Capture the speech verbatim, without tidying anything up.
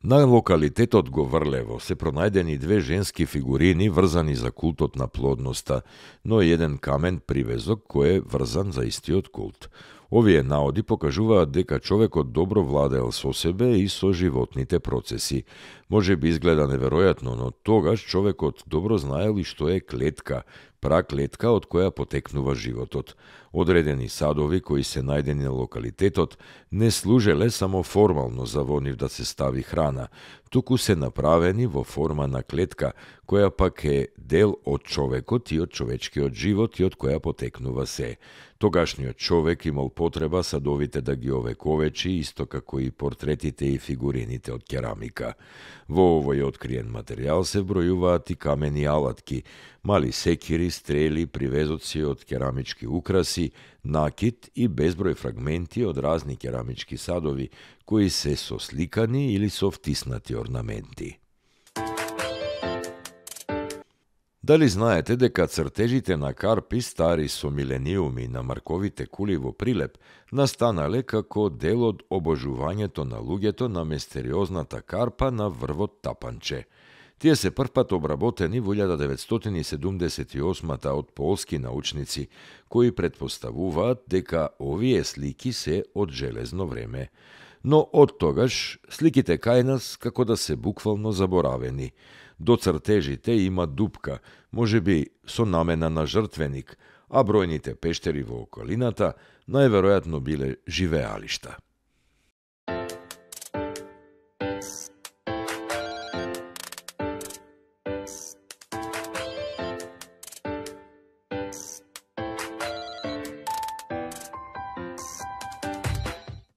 На локалитетот Говрлево се пронајдени две женски фигурини врзани за култот на плодноста, но еден камен привезок кој е врзан за истиот култ. Овие наоди покажуваат дека човекот добро владеел со себе и со животните процеси. Може би изгледа неверојатно, но тогаш човекот добро знаел и што е клетка, праклетка од која потекнува животот. Одредени садови кои се најдени на локалитетот не служеле само формално за во нив да се стави храна, туку се направени во форма на клетка, која пак е дел од човекот и од човечкиот живот и од која потекнува се. Тогашниот човек имал потреба садовите да ги овековечи, исто како и портретите и фигурините од керамика. Во овој откриен материјал се бројуваат и камени алатки, мали секири, стрели, привезоци од керамички украси, накит и безброј фрагменти од разни керамички садови, кои се сосликани или со втиснати орнаменти. Дали знаете дека цртежите на карпи стари со милениуми на марковите кули во Прилеп настанале како дел од обожувањето на луѓето на мистериозната карпа на врвот Тапанче? Тие се првпат обработени во илјада деветстотини и седумдесет и осма од полски научници, кои претпоставуваат дека овие слики се од железно време. Но од тогаш сликите кај нас како да се буквално заборавени. До цртежите има дупка, можеби со намена на жртвеник, а бројните пештери во околината најверојатно биле живеалишта.